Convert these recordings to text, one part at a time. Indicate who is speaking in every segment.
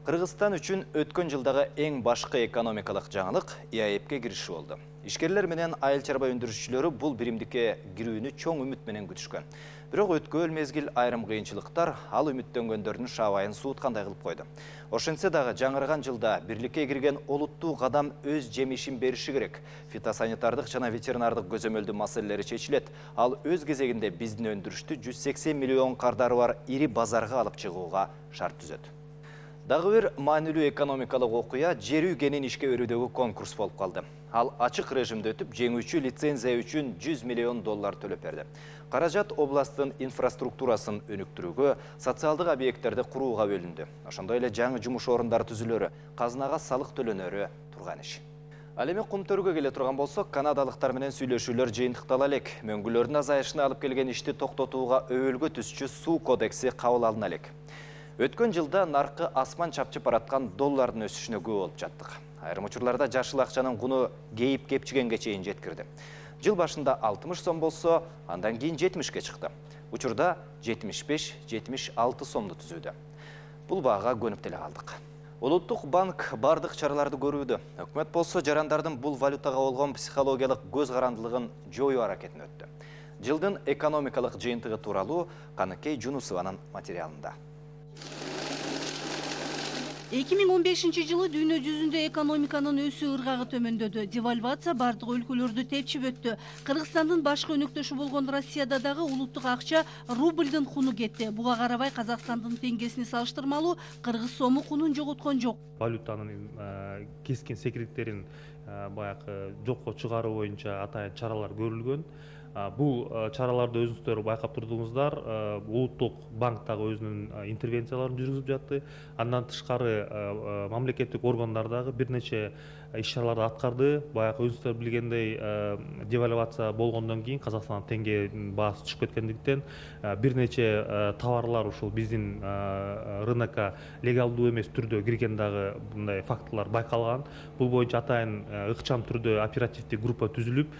Speaker 1: Кыргызстан үчүн өткөн жылдагы эң башкы экономикалык жаңылык ИАЭПке кириши болду. Ишкерлер менен айыл чарба өндүрүүчүлөрү бул биримдикке кирүүнү чоң үмүт менен күтүшкөн. Бирок өткөн мезгил айрым кыйынчылыктар ал үмүттөнгөндөрдүн шабайын сууткандай кылып койду. Ошентсе дагы жаңырган жылда бирликке кирген олуттуу кадам өз жемишин бериши керек. Фитосанитардык жана ветеринардык көзөмөлдүү маселелери чечилет. Ал өз кезегинде биздин өндүрүштү 180 миллион кардары бар ири базарга алып чыгууга шарт түзөт. Дагы бир маанилүү экономикалык окуя жер үй кенин ишке берүүдөгү конкурс болуп калды. Ал ачык режимде өтүп, жеңүүчү лицензия үчүн $100 миллион төлөп берди. Каражат областтын инфраструктурасын өнүктүрүүгө, социалдык объекттерди курууга бөлүндү. Ошондой эле жаңы жумуш орундары түзүлөрү, казынага салык төлөнөрү турган иш. Ал эми кумтөрүгө келе турган болсок, канадалыктар менен сүйлөшүүлөр жыйынтыктала элек. Мөңгүлөрдүн азайышына алып келген ишти токтотууга өбөлгө түзчү суу кодекси кабыл алына элек. Өткөн жылда наркы асман чапчып бараткан доллардын өсүшүнө күбө болуп жаттык. Айрым учурларда жашыл акчанын куну кейип кепчигенге чейин жеткирди. Жыл башында 60 сом болсо, андан кийин 70-ке чыкты. Учурда 75-76 сомду түзүүдө. Бул баага көнүп деле калдык. Улуттук банк бардык чараларды көрүүдө. Өкмөт болсо жарандардын бул валютага болгон психологиялык көз карандылыгын жоюу аракетине өттү. Жылдын экономикалык жыйынтыгы тууралуу Каныкей Жунусованын материалында.
Speaker 2: 2015 жылы дүйнө жүзүндө экономиканын өсүү ыргагы төмөндөдү. Девальвация бардык өлкөлөрдү тепчип өттү. Кыргызстандын башкы өнөктөшү болгон Россияда дагы улуттук акча рубльдин куну кетти. Буга карабай Казакстандын теңгесине салыштырмалуу кыргыз сому кунун жоготкон жок.
Speaker 3: Валютанын кескин секиреттерин баягы жокко чыгаруу боюнча атайын чаралар көрүлгөн. Бул чараларды өзүңүздөр байкап турдуңуздар. Улуттук банк дагы өзүнүн интервенцияларын жүргүзүп жатты. Андан тышкары мамлекеттик органдар дагы бир нече иш-чараларды аткарды. Баягы өзүңүздөр билгендей, девальвация болгондон кийин Казакстандын теңгенин баасы түшүп кеткендиктен бир нече товарлар ушул биздин рынокко легалдуу эмес түрдө кирген дагы мындай фактылар байкалган. Бул боюнча атайын ыкчам түрдө оперативдик группа түзүлүп,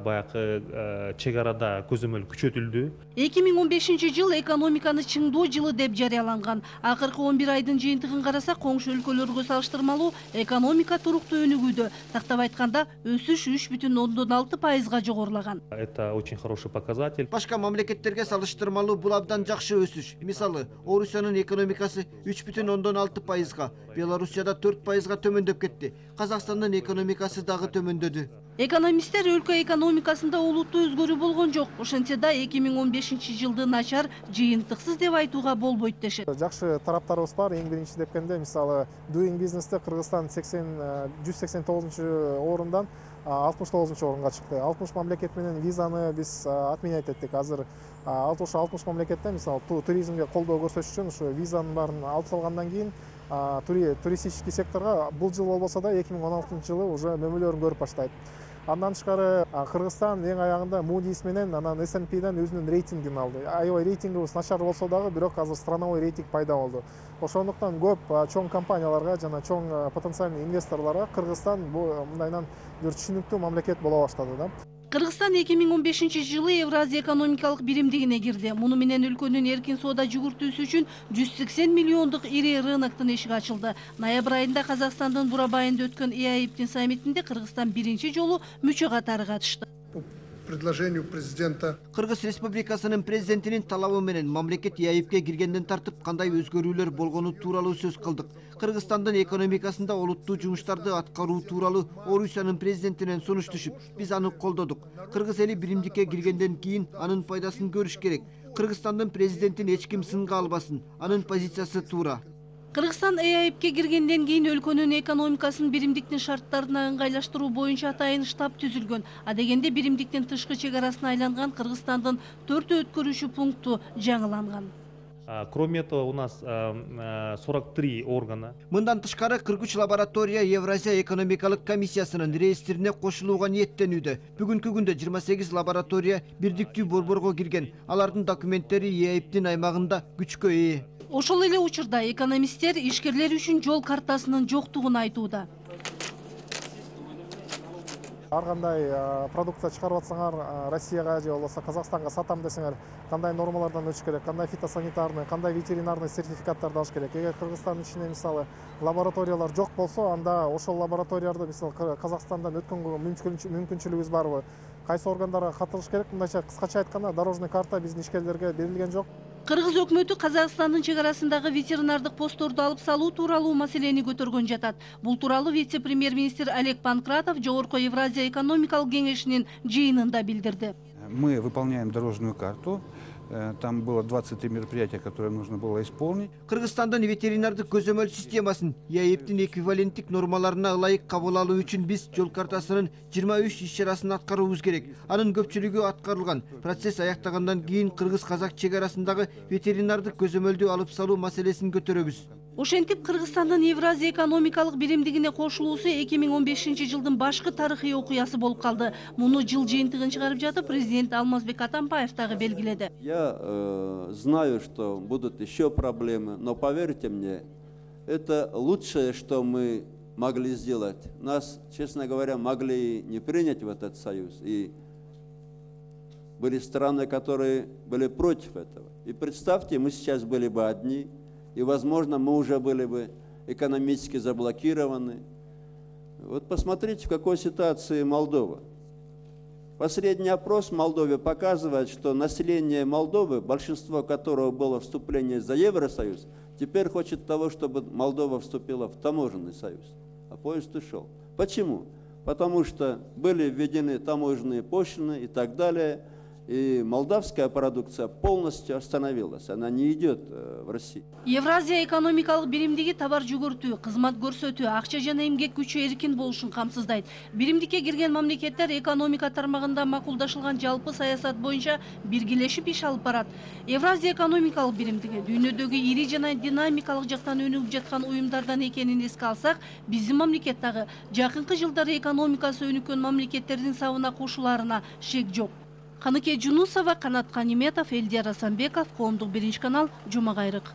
Speaker 3: баягы чек арада көзөмөл күчөтүлдү.
Speaker 2: 2015 жыл экономиканы чыңдоо жылы деп жарыяланган. Акыркы 11 айдын жыйынтыгын карасак, коңшу өлкөлөргө салыштырмалуу экономика туруктуу өнүгүүдө. Тактап айтканда, өсүш 3,6%га жогорулаган.
Speaker 3: Это очень хороший показатель.
Speaker 4: Башка мамлекеттерге салыштырмалуу бул абдан жакшы өсүш. Мисалы, Орусиянын экономикасы 3,6%га, Белоруссияда 4%га төмөндөп кетти. Казакстандын экономикасы дагы төмөндөдү.
Speaker 2: Экономисттер өлкө экономикасында олуттуу өзгөрүү болгон жок. Ошентсе да 2015 жылды начар, жыйынтыксыз деп айтууга болбойт дешет.
Speaker 5: Жакшы тараптарыбыз бар. Эң биринчи депкенде, мисалы, Doing Business'те Кыргызстан 189 орундан 69 орунга чыкты. 60 мамлекет менен визаны биз отменять эттик. Азыр 60 мамлекетте, мисалы, туризмге колдоо көрсөтүш үчүн ушу визанын баарын алып салгандан кийин туристический секторго бул жыл болбосо да 2016 жылы уже мөмөлөрүн көрүп баштайт. Андан тышкары Кыргызстан эң аягында Moody's менен анан S&P'ден өзүнүн рейтингин алды. Аябай рейтингибиз начар болсо дагы, бирок азыр страновой рейтинг пайда болду. Ошондуктан көп чоң компанияларга жана чоң потенциальный инвесторлорго Кыргызстан мындайынан бир түшүнүктүү мамлекет боло баштады да.
Speaker 2: Кыргызстан 2015 жылы Евразия экономикалык биримдигине кирди. Муну менен өлкөнүн эркин соода жүгүртүүсү үчүн 180 миллиондук ири рыноктун эшиги ачылды. Ноябрь айында Казакстандын Бурабайында өткөн ИАЭПтин саммитинде Кыргызстан биринчи жолу мүчө катары катышты.
Speaker 6: Предложению президента.
Speaker 4: Кыргыз Республикасынын президентинин талабы менен мамлекет ИАЭПке киргенден тартып кандай өзгөрүүлөр болгону тууралуу сөз кылдык. Кыргызстандын экономикасында олуттуу жумуштарды аткаруу тууралуу Орусиянын президентинен сунуш түшүп, биз аны колдодук. Кыргыз эли биримдикке киргенден кийин анын пайдасын көрүш керек. Кыргызстандын президентин эч ким сынга албасын. Анын позициясы туура.
Speaker 2: Кыргызстан ИАЭПке киргенден кийин өлкөнүн экономикасын биримдиктин шарттарына ыңгайлаштыруу боюнча атайын штаб түзүлгөн. Адегенде биримдиктин тышкы чек арасына айланган Кыргызстандын 4 өткөрүүчү пункту жаңыланган.
Speaker 3: Кроме этого, у нас 43 органа.
Speaker 4: Мындан тышкары 43 лаборатория Евразия экономикалык комиссиясынын реестрине кошулууга ниеттенүүдө. Бүгүнкү күндө 28 лаборатория бирдиктүү борборго кирген. Алардын документтери ИАЭПтин аймагында күчкө ээ.
Speaker 2: Ошол эле учурда экономисттер ишкерлер үчүн жол картасынын жоктугун айтууда.
Speaker 5: Ар кандай продукция чыгарып атсаңар Россияга же болбосо Казакстанга сатам десеңер, кандай нормалардан өтүш керек, кандай фитосанитарный, кандай ветеринарный сертификаттарды алыш керек. Эгер Кыргызстандын ичинде мисалы лабораториялар жок болсо, анда ошол лабораторияларды мисалы Казакстандан өткөнгө мүмкүнчүлүгүбүз барбы? Кайсы органдарга катылыш керек? Мындайча кыскача айтканда, дорожный карта биздин ишкерлерге берилген жок.
Speaker 2: Кыргыз өкмөтү Казакстандын чек арасындагы ветеринардык постторду алып салуу тууралуу маселени көтөргөн жатат. Бул тууралуу вице-премьер-министр Олег Панкратов Жогорку Евразия экономикалык кеңешинин жыйынында билдирди.
Speaker 7: Мы выполняем дорожную карту. Там было 23 мероприятия, которые нужно было исполнить.
Speaker 4: Кыргызстандын ветеринардык көзөмөл системасын ЕАЭПтин эквиваленттик нормаларына ылайык кабыл алуу үчүн биз жол картасынын 23 иш-чарасын аткарууубуз керек. Анын көпчүлүгү аткарылган. Процесс аяктагандан кийин кыргыз-казак чек арасындагы ветеринардык көзөмөлдү алып салуу маселесин көтөрөбүз.
Speaker 2: Ошентип Кыргызстандын Евразия экономикалык биримдигине кошулуусу 2015-жылдын башкы тарыхый окуясы болуп калды. Муну жыл жыйынтыгын чыгарып жатып, президент Алмазбек Атамбаев дагы белгиледи.
Speaker 8: Я знаю, что будут еще проблемы, но поверьте мне, это лучшее, что мы могли сделать. Нас, честно говоря, могли не принять в этот союз. И были страны, которые были против этого. И представьте, мы сейчас были бы одни. И, возможно, мы уже были бы экономически заблокированы. Вот посмотрите, в какой ситуации Молдова. Последний опрос в Молдове показывает, что население Молдовы, большинство которого было вступление за Евросоюз, теперь хочет того, чтобы Молдова вступила в таможенный союз. А поезд ушел. Почему? Потому что были введены таможенные пошлины и так далее. И молдавская продукция полностью остановилась, она не идет в Россию.
Speaker 2: Евразия экономикалык биримдиги товар жүгүртүү, кызмат көрсөтүү, акча жана эмгек күчү эркин болушун камсыздайт. Биримдикке кирген мамлекеттер экономика тармагында макулдашылган жалпы саясат боюнча биргелешип иш алып барат. Евразия экономикалык биримдиги дүйнөдөгү ири жана динамикалык жактан өнүгүп жаткан уюмдардан экенин эске алсак, биздин мамлекет дагы жакынкы жылдары экономикасы өнүккөн мамлекеттердин сабына кошуларына шек жок. Каныке Жунусова, Канат Каниметов, Элдияр Асанбеков, Коомдук 1 канал, Жума Кайрык.